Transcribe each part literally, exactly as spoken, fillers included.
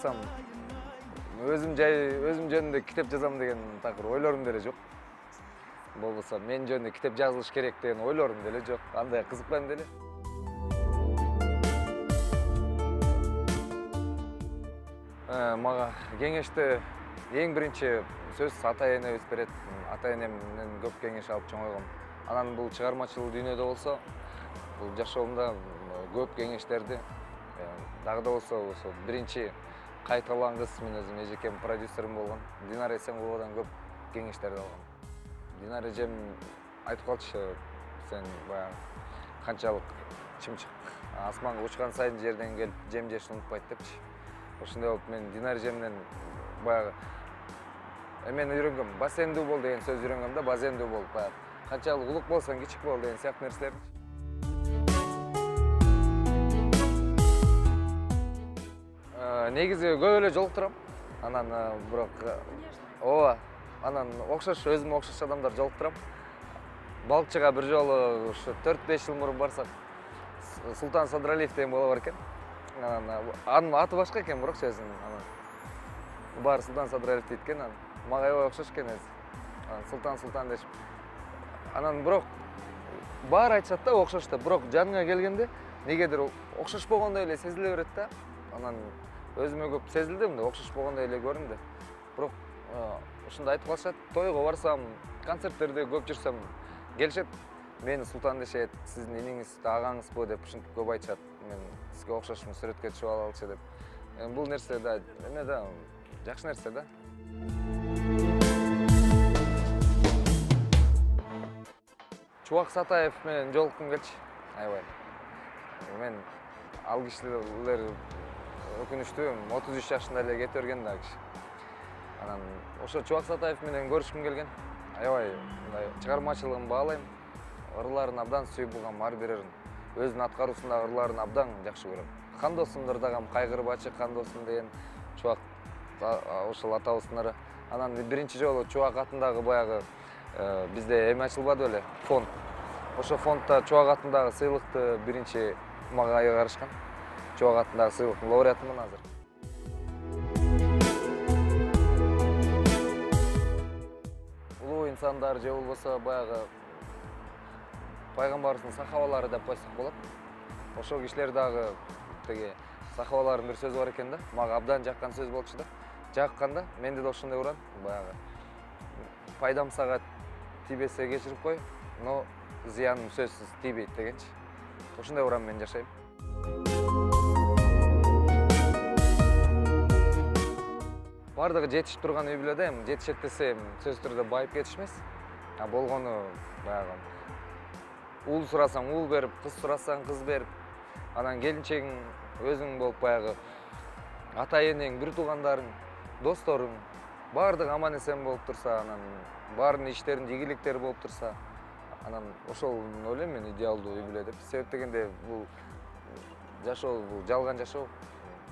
айтсам, өзүм жай өзүм жөнүндө китеп жазам деген такыр ойлорум деле жок. Болбосо мен жөнүндө китеп жазылыш керек деген ойлорум деле жок. Андай кызыкпайм деле. Мага кеңешти эң биринчи сөз ата-энебиз берет. Ата-энемден көп кеңеш алып чоңойгом. Анан бул чыгармачыл дүйнөдө болсо, бул жашоомда көп кеңештерди дагы да болсо ошо биринчи кайталанган кыз мен өзүм эжекем продюсерим болгон Динара Эсенкуловадан көп кеңештерди алгам. Динара эжем айтып калчу, сен баягы канчалык чымчык асманга учкан сайын жерден келип жем жешти унутпайт депчи. Ошондой болуп мен Динара эжемден баягы мен үйрөнгөм, басендүү бол деген сөз үйрөнгөм да, базендүү бол. Баягы канчалык улук болсоң кичик бол деген сыяктуу нерселер. Негизи көп эле жолуктурам. Анан бирок ооба, анан окшош өзүмө окшош адамдар жолуктурам. Балыкчыга бир жолу ушу төрт беш жыл мурун барсак, Султан Садралиев деген бала бар экен. Анан анын аты башка экен, бирокчу өзүнүн анан баары Султан Садралиев дейт экен. Анан мага аябай окшош экен өзү. Анан Султан Султан дешип. Анан бирок баары айтышат да окшош деп, бирок жаныңа келгенде негедир окшош болгондой эле сезиле берет да. Анан өзүмө көп сезилди, мындай окшош болгондой эле көрүндү. Бирок ушундай айтып калышат, тойго барсам, концерттерде көп жүрсөм, келишет, мени Султан дешет, сиздин иниңиз, агаңызбы деп ушинтип көп айтышат. Мен сизге окшошмун, сүрөткө түшүп алалычы деп. Бул нерсе да, эме да, жакшы нерсе да. Чубак Сатаев менен жолуккум келчү, аябай. Мен ал кишилер өкүнүчтүү, отуз үч жашында эле кетип берген да киши. Анан ошо Чубак Сатаев менен көрүшкүм келген. Аябай мындай чыгармачылыгын баалайм. Ырларын абдан сүйүп булгам, ар бирерин. Өзүнүн аткаруусундагы ырларын абдан жакшы көрөм. Кандосумдур дагам, кайгырбачы кандосум деген Чубак ошол атабыздын ыры. Анан биринчи жолу Чубак атындагы баягы бизде эме ачылбады беле, фонд. Ошо фонддо Чубак атындагы сыйлыкты биринчи мага кайгарышкан. Чубак атындагы сыйлыктын лауреатымын азыр. Улуу инсандар же болбосо баягы пайгамбарыбыздын сахабалары деп койсок болот. Ошол кишилер дагы теги сахабалардын бир сөзү бар экен да. Мага абдан жаккан сөз болчу да. Жакканда менде да ошондой уран, баягы пайдам сага тийбесе кечирип кой, но зыяным сөзсүз тийбейт дегенчи. Ошондой уран менен жашайм. Бардыгы жетишип турган үй бүлөдө эми жетишет десе сөзсүз түрдө байып кетиш эмес. А болгону баягы уул сурасаң уул берип, кыз сурасаң кыз берип, анан келинчегиң өзүң болуп баягы ата-энең, бир туугандарың, досторуң бардыгы аман эсен болуп турса, анан баарынын иштеринде ийгиликтери болуп турса, анан ошол ойлойм мен идеалдуу үй бүлө деп. Себеп дегенде бул жашоо, бул жалган жашоо.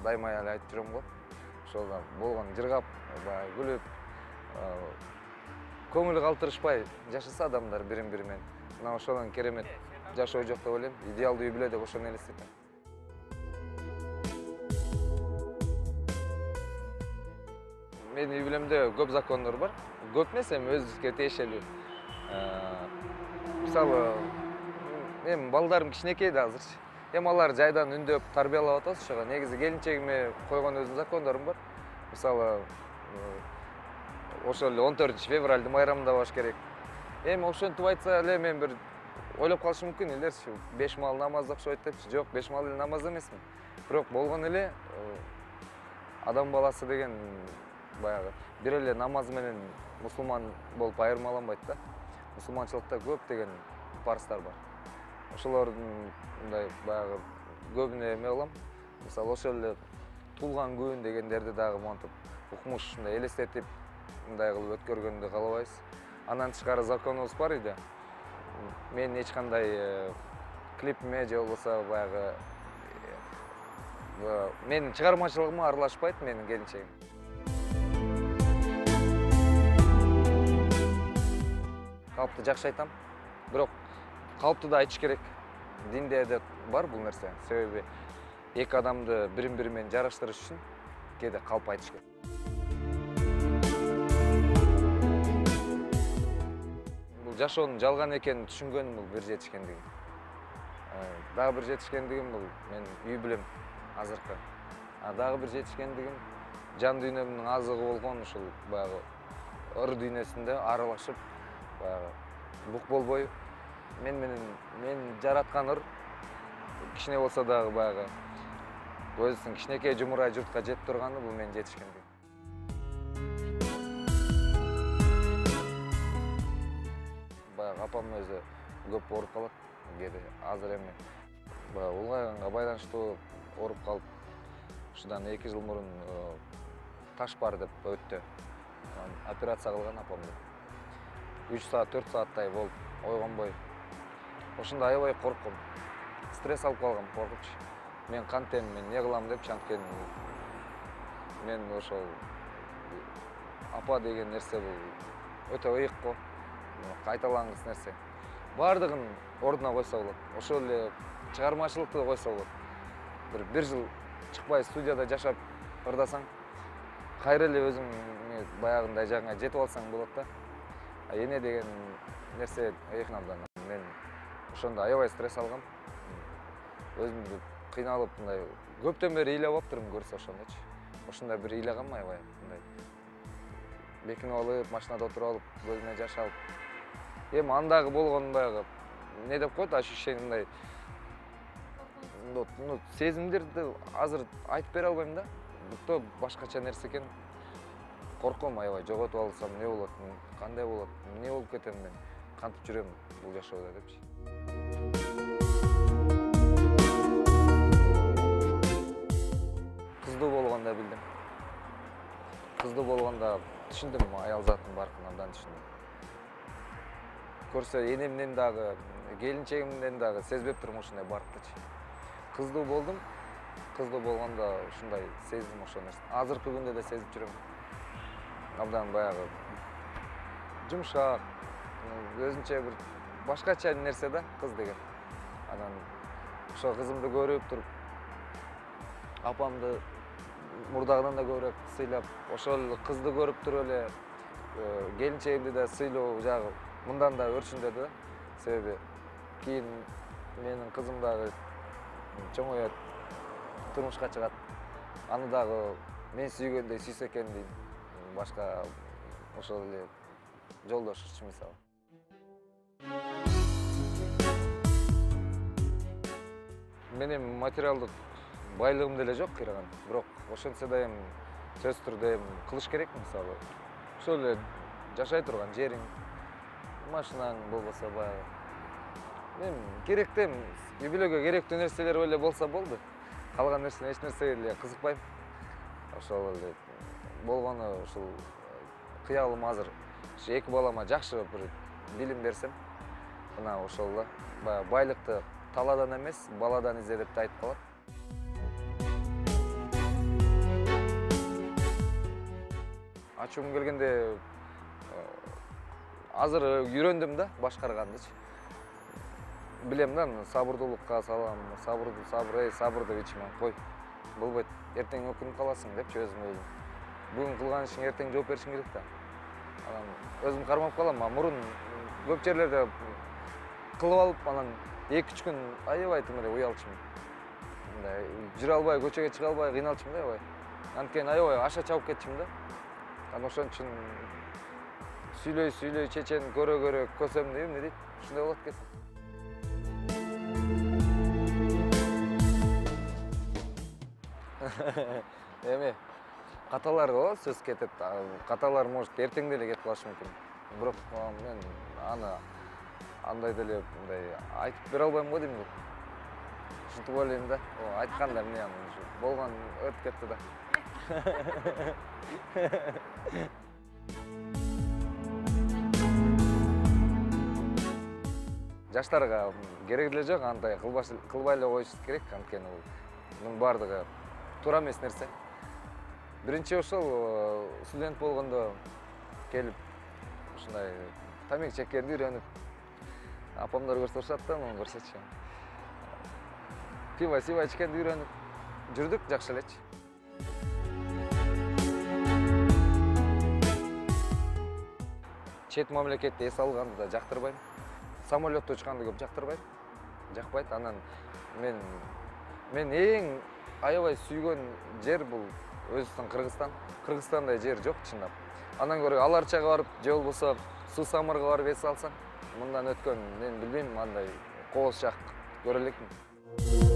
Дайыма эле айтып жүрөм го. Ошол болгон жыргап, баягы күлүп, көңүл калтырышпай жашаса адамдар бирин-бири менен. Мына ошодон керемет жашоо жок деп ойлойм. Идеалдуу үй бүлө деп ошону элестетем. Менин үй бүлөмдө көп закондор бар. Көп эмес, эми өзүбүзгө тиешелүү. Мисалы, эми балдарым кичинекей да азырчы. Эми алар жайдан үндөп тарбиялап атабыз ошого. Негизи келинчегиме койгон өзүнүн закондорум бар. Мисалы, ошол эле он төртүнчү февралдын майрамында болуш керек. Эми ошентип айтса эле мен бир ойлоп калышым мүмкүн, элерчи беш маал намаз окшойт депчи. Жок, беш маал эле намаз эмесмин. Бирок болгон эле адам баласы деген баягы бир эле намаз менен мусулман болуп айырмаланбайт да. Мусулманчылыкта көп деген парыздар бар. Ошолордун мындай баягы көбүнө эме кылам. Мисалы, ошол эле туулган күн дегендерди дагы монтип укмуш мындай элестетип мындай кылып өткөргөндү каалабайбыз. Андан тышкары законубуз бар үйдө. Мен эч кандай клипиме же болбосо баягы менин чыгармачылыгыма аралашпайт менин келинчегим. Калпты жакшы айтам. Бирок калпты да айтыш керек. Динде да бар бул нерсе. Себеби эки адамды бирин-бири менен жараштырыш үчүн кээде калп айтышат. Бул жашоонун жалган экенин түшүнгөнүм бул бир жетишкендигим. Дагы бир жетишкендигим бул мен үй бүлөм азыркы. А дагы бир жетишкендигим жан дүйнөмдүн азыгы болгон ушул баягы ыр дүйнөсүндө аралашып, баягы бук болбой мен менен мен жараткан ыр кичине болсо дагы баягы өзүнүн кичинекей жумурай журтка жетип турганы бул менин жетишкендигим. Баягы апам өзү көп ооруп калат кээде, азыр эми баягы улгайганга байланыштуу ооруп калып, ушудан эки жыл мурун таш бар деп өттү. Операция кылган апамды. үч саат, төрт сааттай болуп ойгонбой. Ошондо аябай коркком. Стресс алып калгам, коркуч. Мен кантем, мен эмне кылам деп, анткени мен ошол апа деген нерсе бул өтө ыйык го. Кайталангыс нерсе. Бардыгын ордуна койсо болот. Ошол эле чыгармачылыкты койсо болот. Бир бир жыл чыкпай студияда жашап ырдасаң, кайра эле өзүң баягындай жагыңа жетип алсаң болот да. А эне деген нерсе ыйык абдан. Мен ошондо аябай стресс алгам. Өзүмдү кыйналып, мындай көптөн бери ыйлап алыптырмын көрсө ошондочу. Ошондой бир ыйлагам аябай, мындай. Бекинип алып, машинада отуруп алып, өзүмө жашап. Эми андагы болгон баягы эмне деп коет, ощущение мындай. Ну, сезимдерди азыр айтып бере албайм да. Бутто башкача нерсе экен. Корком аябай, жоготуп алсам эмне болот, кандай болот, эмне болуп кетем мен, кантип жүрөм бул жашоодо депчи. Кыздуу болгондо билдим. Кыздуу болгондо түшүндүм аял заттын баркын, абдан түшүндүм. Көрсө энемден дагы, келинчегимден дагы сезбеп турмун ушундай барктычы. Кыздуу болдум. Кыздуу болгондо ушундай сездим ошол нерсе. Азыркы күндө да сезип жүрөм. Абдан баягы жумшак, өзүнчө бир башкача нерсе да кыз деген. Анан ошо кызымды көрүп туруп, апамды мурдагыдан да көбүрөөк сыйлап, ошол кызды көрүп туруп эле келинчегимди да сыйлоо жагы мындан да өрчүндөдү да. Себеби кийин менин кызым дагы чоңойот, турмушка чыгат. Аны дагы мен сүйгөндөй сүйсө экен дейм. Башка ошол эле жолдош мисалы. Менин материалдык байлыгым деле жок кыйраган. Бирок ошентсе да эми сөзсүз түрдө эми кылыш керек мисалы. Ошол эле жашай турган жериң, машинаң болбосо баягы. Мен керектүү, үй бүлөгө керектүү нерселер эле болсо болду. Калган нерсе эч нерсеге эле кызыкпайм. Ошол эле болгону ушул кыялым азыр ушу эки балама жакшы бир билим берсем, мына ошол да баягы байлыкты талаадан эмес, баладан изде деп айтып калат. Ачуум келгенде азыр үйрөндүм да башкаргандычы. Билем да, сабырдуулукка салам, сабырды, сабыр, эй, сабырды ичиме кой. Болбойт, эртең өкүнүп каласың депчи өзүм өзүм. Бүгүн кылган ишиң эртең жооп беришиң керек да. Анан өзүм кармап калам, мурун көп жерлерде кылып алып, анан эки үч күн аябай тым эле уялчумун. Мындай жүрө албай, көчөгө чыга албай кыйналчумун да аябай. Анткени аябай аша чабып кетчүмүн да. Анан ошон үчүн сүйлөй сүйлөй чечен көрө көрө көсөм дейм, эмне дейт? Ушундай болот экен. Эми каталар го сөз кетет. Каталар может эртең деле кетип калышы мүмкүн. Бирок мен аны андай деле мындай айтып бере албайм го дейм. Ушинтип ойлойм да. Айтканда эмне аны болгон өтүп кетти да. Жаштарга керек деле жок, андай кылбай эле коюш керек, анткени бул бардыгы туура эмес нерсе. Биринчи ошол студент болгондо келип ушундай тамек чеккенди үйрөнүп, апамдар көрсө урушат да, муну көрсөчү. Пиво сиво ичкенди үйрөнүп жүрдүк, жакшы элечи. чет мамлекетте эс алганды да жактырбайм. Самолетто учканды көп жактырбайм. Жакпайт. Анан мен мен эң аябай сүйгөн жер бул Өзбекстан, Кыргызстан. Кыргызстандай жер жок чындап. Андан көрө Аларчага барып, же болбосо Суу Самырга барып эс алсам, мындан өткөн мен билбейм, андай кооз жак көрө элекмин.